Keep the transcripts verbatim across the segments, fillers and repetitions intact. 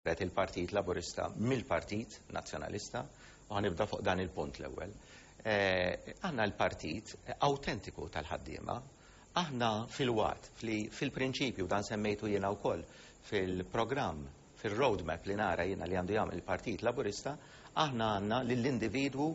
Il-Partit Laburista mill-Partit Nazzjonalista, u ħa nibda fuq dan il-punt l-ewwel. Eh, aħna l-partit autentiku tal-ħaddiema, aħna fil-waqt li fil-prinċipju dan semmejtu jiena wkoll fil-programm, fil-roadmap li nara jiena li għandu jagħmel il-Partit Laburista, aħna għandna lill-individwu,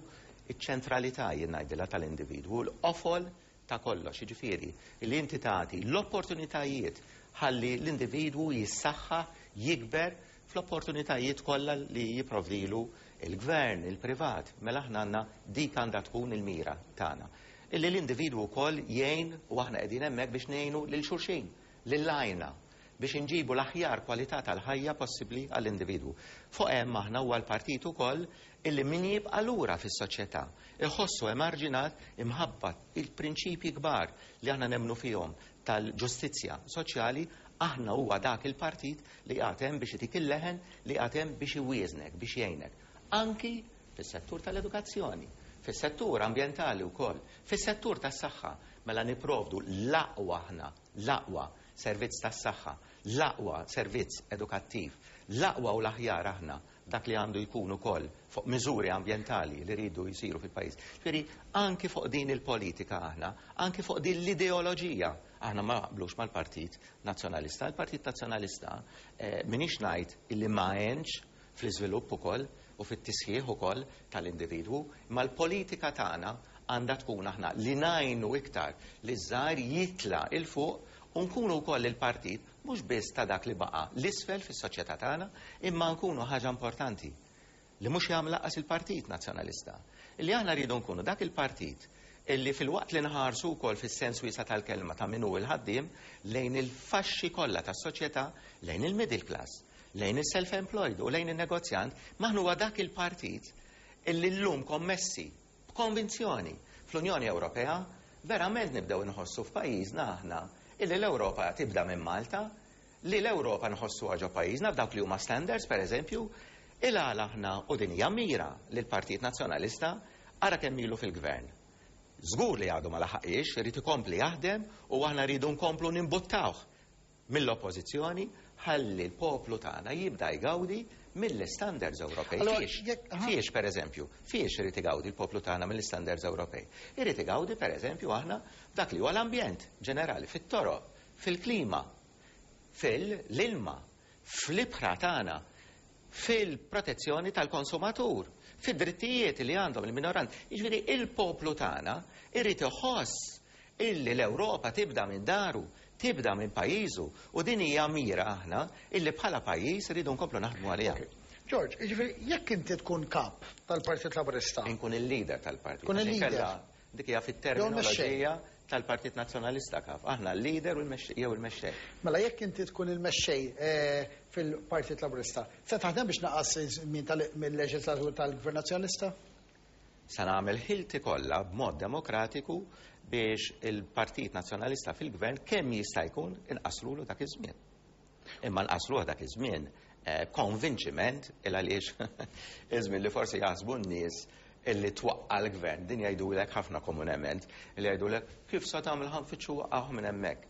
iċ-ċentralità jien ngħidilha tal-individwu, l-qofol ta' kollox, jiġifieri li inti tagħti l-opportunitajiet ħalli l-individwu jissaħħa, jikber fl-opportunitajiet kollha li jipprovdilu il-gvern, il-privat. Mela aħna għandna dik għandha tkun il-mira tagħna. Illi l-individwu wkoll jgħin, u aħna qegħdin hemmhekk biex ngħinu lil xulxin, lil għajna biex inġibu l-aħjar kwalità tal-ħajja possibbli għall-individwu. Fuq hemm aħna huwa l-partit ukoll illi min jibqa' lura fis-soċjetà, iħossu emarġinat, imħabba il-prinċipji kbar li aħna nemmnu fihom tal-ġustizzja soċjali, aħna huwa dak il-partit li għatem biex itik il-leħen, li għatem biex iwieżnek, biex jgħinek. Anki fis-settur tal-edukazzjoni, fis-settur ambjentali wkoll, fis-settur tas-saħħa, mela nipprovdu l-aqwa aħna, l-aqwa servizz tas-saħħa, l-aqwa servizz edukattiv, l-aqwa u l-aħjar aħna dak li għandu jkun ukoll fuq miżuri ambjentali li rridu jsiru fil-pajjiż. Ġifieri anki fuq din il-politika aħna, anki fuq din l-ideoloġija aħna ma naqblux mal-Partit Nazzjonalista. Il-Partit Nazzjonalista eh, m'iniex ngħid illi ma għenx fl-iżvilupp ukoll u fit-tisħiħ ukoll tal-individwu, imma l-politika tagħna għandha tkun aħna li ngħinu iktar li żgħar jitla' 'il fuq u nkunu wkoll il-partit mhux biss ta' dak li baqa' l-isfel fis-soċjetà tagħna, imma nkunu ħaġa importanti li mhux jagħmel lanqas il-Partit Nazzjonalista. Illi aħna rridu nkunu dak il-partit illi fil-waqt li nħarsu wkoll fis-sens wiesa' tal-kelma ta' min hu il-ħaddiem lejn il-faxxi kollha tas-soċjetà, lejn il-middle class, lejn il-self-employed u lejn il-negozjant, aħna huwa dak il-partit illi llum kommessi b'konvinzjoni fl-Unjoni Ewropea, verament nibdew nħossu f'pajjiżna aħna illi l-Ewropa tibda minn Malta, li l-Ewropa nħossu ġo pajjiżna f'dawk li huma standards, per eżempju, il-għala aħna, u din hija mira li l-Partit Nazzjonalista ara kemm ilu fil-gvern. Żgur li għadu ma laħaqix, irid ikompli jaħdem u aħna rridu nkomplu nimbuttawh mill-oppożizzjoni ħalli l-poplu tagħna jibda jgawdi mill-standards Ewropej. Fiex, fiex per eżempju, fiex irid igawdi l-poplu tagħna mill-standards Ewropej? Irid igawdi, per eżempju, aħna dak li huwa l-ambjent ġenerali, fit-toroq, fil-klima, fil-ilma, fl-ibħra tagħna, fil-protezzjoni tal-konsumatur, fid-drittijiet li għandhom il-minoranzi. Jiġifieri il-poplu tagħna irid iħoss illi l-Ewropa tibda minn daru, tibda minn pajjiżu, u din hija mira aħna illi bħala pajjiż rridu nkomplu naħdmu għaliha. George, jiġifieri jekk inti tkun kap tal-Partit Laburista. Inkun il-leader tal-partit. Tkun il-leader. Dik hija fit-terminoloġija tal-Partit Nazzjonalista kaf. Aħna l-leader jew il-mexxej. Mela jekk inti tkun il-mexxej eh, fil-Partit Laburista, se taħdem biex tnaqqas iż-żmien mill-leġislatur tal-Gvern Nazzjonalista? Se nagħmel ħilti kollha b'mod demokratiku biex il-Partit Nazzjonalista fil-Gvern kemm jista' jkun inqasrulu dak iż-żmien. Imma nqasruh dak iż-żmien eh, konvinċiment, il għaliex iż-żmien li forsi jaħsbu n-nies illi twaqqa l-gvern, din jgħidulek ħafna komunement, illi jgħidulek kif sa tagħmel, ħa nfittxu waqqgħuh minn hemmhekk.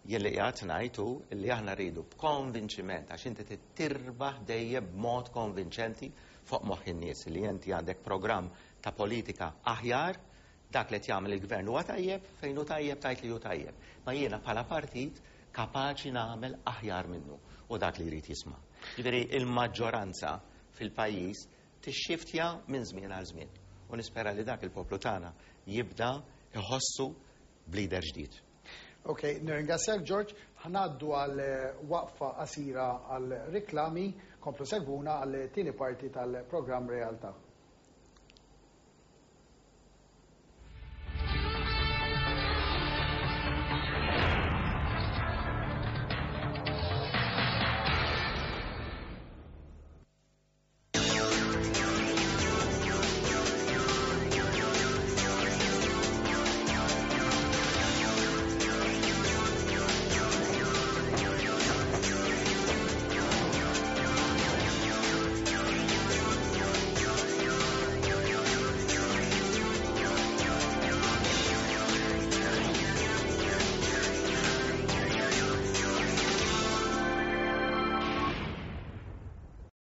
Jien li qiegħed ngħidu illi aħna rridu b'konvinċiment, għax inti tirbaħ dejjem b'mod konvinċenti fuq moħħ in-nies li inti għandek programm ta' politika aħjar. Dak li qed jagħmel il-gvern huwa tajjeb, fejn hu tajjeb tajt li hu tajjeb. Ma jiena bħala partit kapaċi nagħmel aħjar minnu u dak li jrid jisma'. Jiġifieri il-maġġoranza fil-pajjiż tixxiftja minn żmien għal żmien. U nispera li dak il-poplu tagħna jibda iħossu b'leader ġdid. Ok, nirringrazzjak, George. Ħa ngħaddu għal eh, waqfa qasira għal riklami, komplu segwuna għal tieni parti tal-programm Realtà.